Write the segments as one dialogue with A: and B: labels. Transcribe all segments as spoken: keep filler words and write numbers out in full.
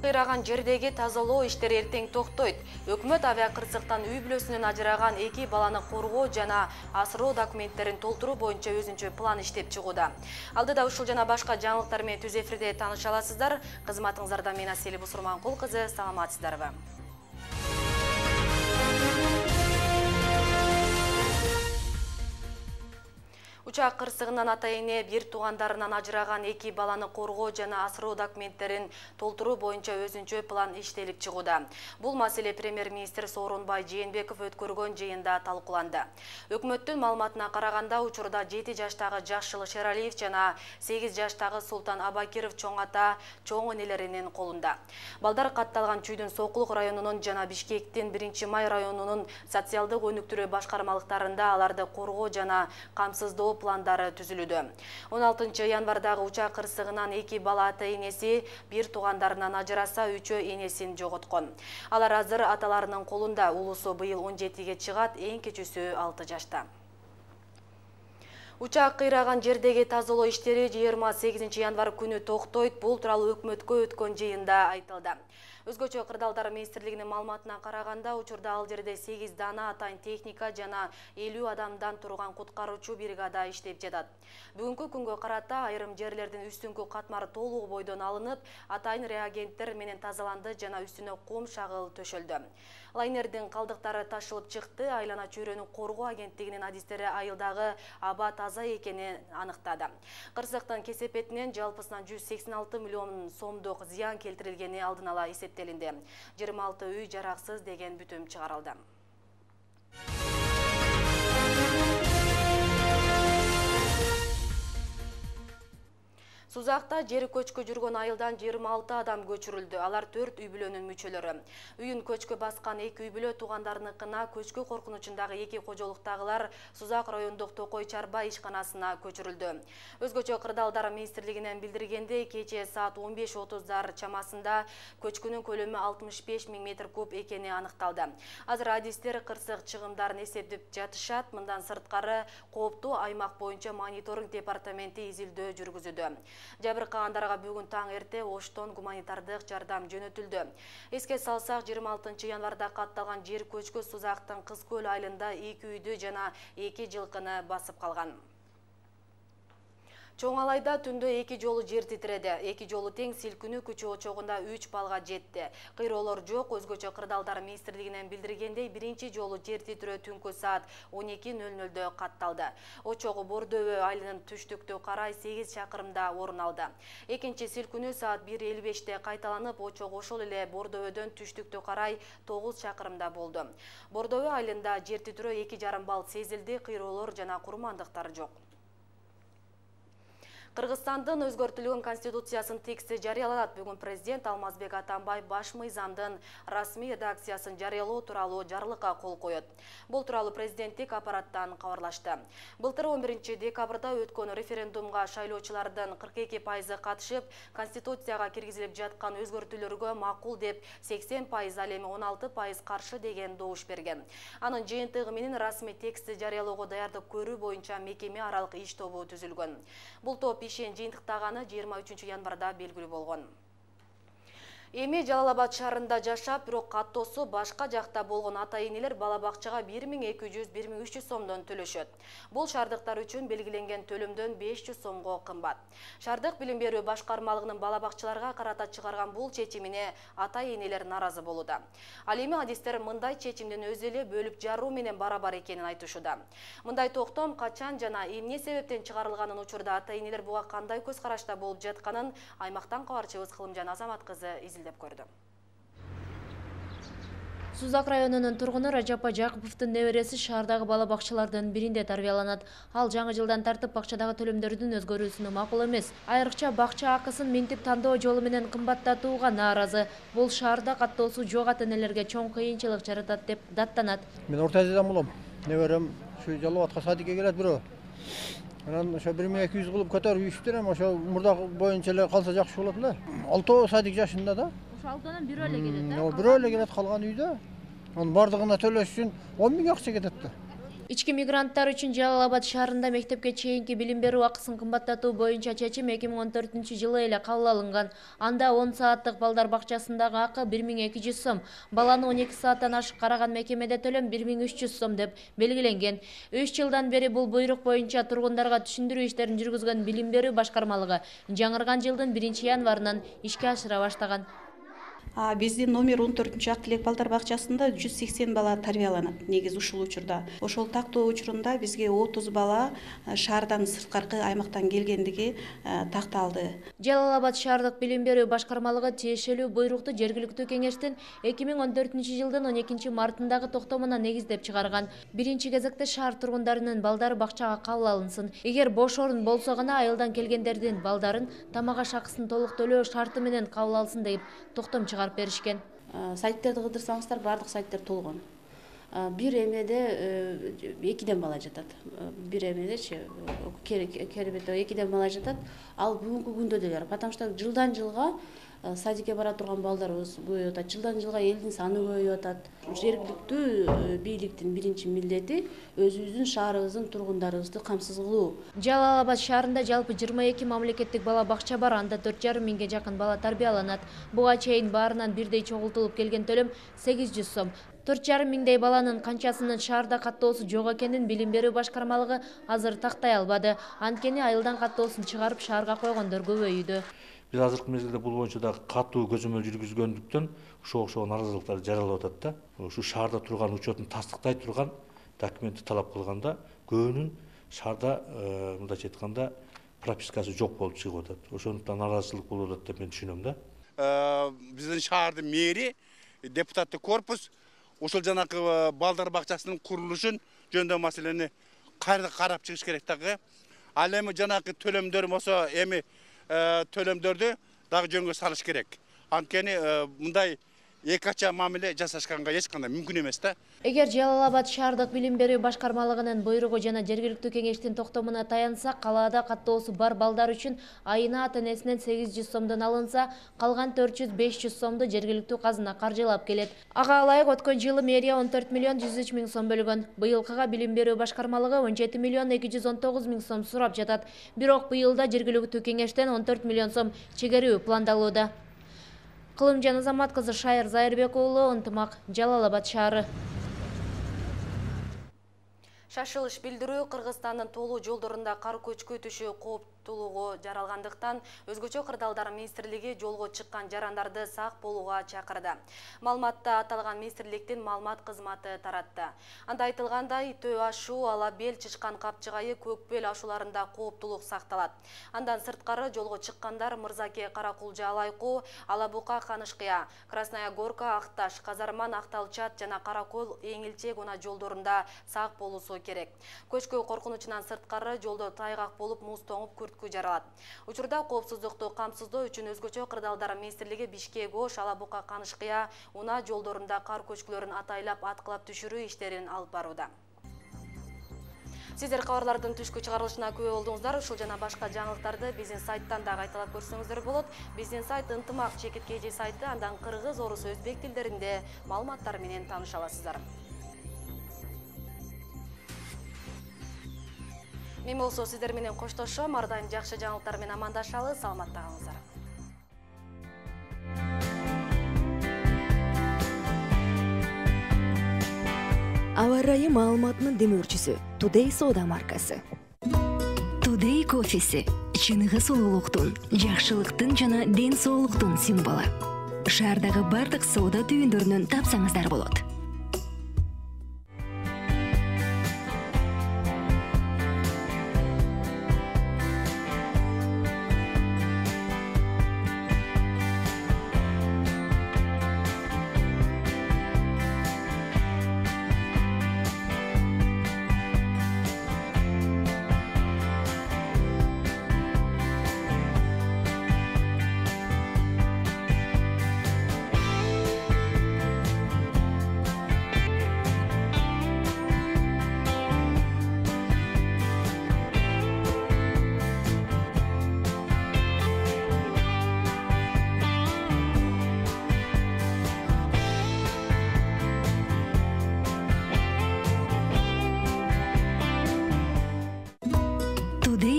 A: кыйраган жердеги тазалоо иштери эртең токтойт. Өкмөт авиа кырсыктан үй бүлөсүнөн ажыраган эки баланы коргоо жана асыроо документтерин толтуруу боюнча өзүнчө план иштеп чыгууда. Алдыда ушул жана башка жаңылыктар менен түз эфирде тааныша аласыздар. Кызматыңыздарда мен Асель Бусурманкул кызы, саламатсыздарбы? Учак кырсыгынан ата-эне бир туугандарынан ажыраган эки баланы коргоо жана асыроо документтерин толтуруу боюнча өзүнчө план иштелип чыгууда. Бул маселе премьер-министр Сооронбай Жээнбеков өткөргөн жыйында талкууланды. Өкмөттүн маалыматына караганда, учурда жети жаштагы Жашыл Шералиев жана сегиз жаштагы Султан Абакиров чоң ата, чоң энелеринин колунда. Балдар катталган Чүйдүн Сокулук районунун жана Бишкектин биринчи май районунун социалдык өнүктүрүү башкармалыктарында аларды коргоо жана камсыздоо пландары түзүлүүдө. он алтынчы январдагы учак кырсыгынан эки бала ата-энеси бир туугандарынан ажыраса, үчөө энесин жоготкон. Алар азыр аталарынын колунда. Улусу быйыл он жетиге чыгат, эң кичүүсү алты жашта. Учак кыйраган жердеги тазалоо иштери жыйырма сегизинчи январ күнү токтойт. Бул тууралуу өкмөткө өткөн жыйында айтылды. Өзгөчө Кырдаалдар министрлигинин маалыматына караганда, учурда ал жерде сегиз дана атайын техника жана элүү адамдан турган куткаруучу бригада иштеп жатат. Бүгүнкү күнгө карата айрым жерлердин үстүңкү катмары толугу бойдон алынып, атайын реагенттер менен тазаланды жана үстүнө кум шагыл төшөлдү. Лайнердин калдыктары ташылып чыкты. Айлана чөйрөнү коргоо агенттигинин адистери айылдагы аба таза экенин аныктады. Кырсыктын кесепетинен жалпысынан жүз сексен алты миллион сомдук зыян келтирилгени алдын ала эсептелинди. жыйырма алты үй жараксыз деген бүтүм чыгарылды. Сузакта жери көчкү жүргөн айылдан жыйырма алты адам көчүрүлдү. Алар төрт үй бүлөнүн мүчөлөрү. Үйүн көчкү баскан эки үй бүлө туугандарыныкына, көчкү коркунучундагы эки кожолуктагылар Сузак райондук Токой Чарба ишканасына көчүрүлдү. Өзгөчө Кырдаалдар министрлигинен билдиргендей, кечээ саат он беш отуздар чамасында көчкүнүн көлөмү алтымыш беш миң метр куб экени аныкталды. Азыр адистер кырсык чыгымдарын эсептеп жатышат. Мындан сырткары кооптуу аймак боюнча мониторинг департаменти изилдөө жүргүзүүдө. Жабыркагандарга бүгүн таң эрте Оштон гуманитардык жардам жөнөтүлдү. Эске салсак, жыйырма алтынчы январда катталган жер көчкү Сузактын Кыз көл айылында эки үйдү жана эки жылкыны басып калган. Чоң Алайда түндө эки жолу жер титиреди. Эки жолу тең силкинүү күчү очогунда үч балга жетти. Кыйроолор жок. Өзгөчө Кырдаалдар министрлигинен билдиргендей, биринчи жолу жер титирөө түнкү саат он эки нөл нөлдө катталды. Очогу Бордөбө айылынын түштүктө карай сегиз чакырымда орун алды. Экинчи силкинүү саат бир элүү беште кайталанып, очог ошол эле Бордөбөдөн түштүктө карай тогуз чакырымда болду. Бордөбө айылында жер титирөө эки жарым балл сезилди. Кыйроолор жана курмандыктар жок. Кыргызстандын өзгөртүлгөн конституциясынын тексти жарыяланат. Бүгүн президент Алмазбек Атамбаев баш мыйзамдын расмий редакциясын жарыялоо тууралуу жарлыкка кол коет. Бул тууралуу президенттик аппараттан кабарлашты. Былтыр он биринчи декабрда өткөн референдумга шайлоочулардын кырк эки пайызы катышып, конституцияга киргизилип жаткан өзгөртүүлөргө макул деп сексен пайыз, ал эми он алты пайыз каршы деген добуш берген. Анын жыйынтыгы менен расмий текстти жарыялоого даярдык көрүү боюнча мекеме аралык иш тобу түзүлгөн. Бул топ ишин жыйынтыктаганы жыйырма үчүнчү январда белгилүү болгон. Эми Жалал-Абад шаарында жашап, бирок каттоосу башка жакта болгон ата-энелер бала бакчага бир миң эки жүз — бир миң үч жүз сомдон төлөшөт. Бул шаардыктар үчүн белгиленген төлөмдөн беш жүз сомго кымбат. Шаардык билим берүү башкармалыгынын бала бакчаларга карата чыгарган бул чечимине ата-энелер наразы болууда. Ал эми адистер мындай чечимдин өзү эле бөлүп жаруу менен барабар экенин айтышууда. Мындай токтом качан жана эмне себептен чыгарылганын, учурда ата-энелер буга кандай көз карашта болуп жатканын аймактан кабарчыбыз Кылымжан Азамат кызы изилдеп көрдү.
B: Сузак районунун тургуну Ражапа Жакыповдун небереси шаардагы бала бакчалардын биринде тарбияланат. Ал жаңы жылдан тартып бакчадагы төлөмдөрдүн өзгөрүүсүнө макул эмес. Айрыкча бакча акысын минтип тандоо жолу менен кымбаттатууга нааразы. Бул шаарда каттоосу жок ата-энелерге чоң кыйынчылык жаратат деп даттанат.
C: Мен орта азиядан болом. Неберем ушу Жалал-Абадка садикке келет бирөө. Анан ошо бир миң эки жүз кылып көтөрүп иштирем, ошо мурдак боюнча эле калса жакшы болот эле. Алтоо садик жашында да.
B: Ошо алтоонун бирөө эле келет, э?
C: Бирөө эле келет, калган үйдө. Анын бардыгына төлөш үчүн он миң акча кетет да.
B: Ички мигранттар үчүн Жалал Абад шаарында мектепке чейинки билим берүү акысын кымбаттатуу боюнча чечим эки миң он төртүнчү жылы эле кабыл алынган. Анда он сааттык балдар бакчасындагы акы бир миң эки жүз сом, баланы он эки сааттан ашык караган мекемеде төлөм бир миң үч жүз сом деп белгиленген. үч жылдан бери бул буйрук боюнча тургундарга түшүндүрүү иштерин жүргүзгөн билим берүү башкармалыгы жаңырган жылдын биринчи январынан ишке ашыра баштаган.
D: Биздин номер он төртүнчү ак тилек балдар бакчасында жүз сексен бала тарбияланат. Негизи ушул учурда. Ошол тактоо учурунда бизге отуз бала шаардан сырткаркы аймактан келгендиги такталды.
B: Жалал Абад шаардык билим берүү башкармалыгы тиешелүү буйрукту жергиликтүү кеңештин эки миң он төртүнчү жылдын он экинчи мартындагы токтомуна негиздеп чыгарган. Биринчи кезекте шаар тургундарынын балдары бакчага кабыл алынсын. Эгер бош орун болсо гана айылдан келгендердин балдарын тамак аш акысын толук төлөө шарты менен кабыл алсын деп токтом чыгарып беришкен.
D: Сайттерди кыдырсаңыздар баардык сайттер толгон. Бир эмеде экиден бала жатат. Бир эмедечи керебетте экиден бала жатат. Ал бүгүнкү күндө деле, потому что жылдан жылга садикке бара турган балдарыбыз көбөйүп атат. Жылдан жылга элдин саны көбөйүп атат. Жергиликтүү бийликтин биринчи милдети өзүбүздүн шаарыбыздын тургундарыбызды камсыз кылуу.
B: Жалал Абад шаарында жалпы жыйырма эки мамлекеттик бала бакча бар, анда төрт жарым миңге жакын бала тарбияланат. Буга чейин баарынан бирдей чогултулуп келген төлөм сегиз жүз сом. төрт жарым миңдей баланын канчасынын шаарда каттоосу жок экенин билим берүү башкармалыгы азыр тактай албады. Анткени айылдан каттоосун чыгарып шаарга койгондор көбөйүүдө.
E: Биз азыркы мезгилде бул боюнча да катуу көзөмөл жүргүзгөндүктөн ушул окшогон наразылыктар жаралып атат да. Ушу шаарда турган учетун тастыктай турган документти талап кылганда көбүнүн шаарда мындайча айтканда пропискасы жок болуп чыгып атат. Ошондуктан наразычылык болуп атат деп мен түшүнөм да.
F: Биздин шаардын мэри, депутаттык корпус ошол жанакы балдар бакчасынын курулушун жөнүндө маселени кайра карап чыгыш керек дагы. Ал эми жанакы төлөмдөр болсо эми төлөмдөрдү дагы жөнгө салыш керек. Анткени мындай эки ача мамиле жасашканга эч кандай мүмкүн эмес да.
B: Эгер Жалал Абад шаардык билим берүү башкармалыгынын буйругу жана жергиликтүү кеңештин токтомуна таянсак, калаада каттоосу бар балдар үчүн айына ата-энесинен сегиз жүз сомдон алынса, калган төрт жүз беш жүз сомду жергиликтүү казына каржылап келет. Ага ылайык өткөн жылы мэрия он төрт миллион жүз үч миң сом бөлгөн. Быйылкыга билим берүү башкармалыгы он жети миллион эки жүз он тогуз миң сом сурап жатат. Бирок быйылда жергиликтүү кеңештен он төрт миллион сом чегерүү пландалууда. Кылымжан Азамат кызы, Шайыр Зайырбек уулу, Ынтымак, Жалал Абад шаары.
A: Шашылыш билдирүү Кыргызстандын толуу жолдорунда кар көчкү түшүү кооптуулугу жаралгандыктан өзгөчө кырдаалдар министрлиги жолго чыккан жарандарды сак болууга чакырды. Маалыматта аталган министрликтин маалымат кызматы таратты. Анда айтылгандай, Төө ашуу, Ала бел, Чычкан капчыгайы, Көк бел ашууларында кооптуулук сакталат. Андан сырткары жолго чыккандар Мырзаке, Каракулжа, Алайкуу, Ала Бука, Канышкыя, Красная Горка, Акташ, Казарман, Акталчат жана Каракөл, Эңилчек она жолдорунда сак болуусу керек. Көчкү коркунучунан сырткары жолдо тайгак болуп, муз тоңуп, күрткү жаралат. Учурда коопсуздукту камсыздоо үчүн өзгөчө кырдаалдар министрлиги Бишкек, Ош, Ала Бука, Канышкыя, Уна жолдорунда кар көчкүлөрүн атайлап аткылап түшүрүү иштерин алып барууда. Сиздер кабарлардын түшкү чыгарылышына күбө болдуңуздар. Ушул жана башка жаңылыктарды биздин сайттан да кайталап көрсөңүздөр болот. Биздин сайт Ынтымак чекит кей жи сайты, андан кыргыз, орус, өзбек тилдеринде маалыматтар менен тааныша аласыздар. Мен болсо сиздер менен коштошом, ар дайым жакшы жаңылыктар менен амандашалы, саламатта калыңыздар.
G: Аба ырайы маалыматынын демөөрчүсү Today Soda маркасы. Today кофеси чыныгы сулуулуктун, жакшылыктын жана ден соолуктун символу. Шаардагы бардык соода түйүндөрүнөн тапсаңыздар болот.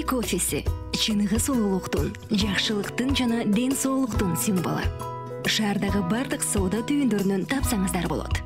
G: кофеси чыныгы сулуулуктун, жакшылыктын жана ден соолуктун символу. Шаардагы бардык соода түйүндөрүнөн тапсаңыздар болот.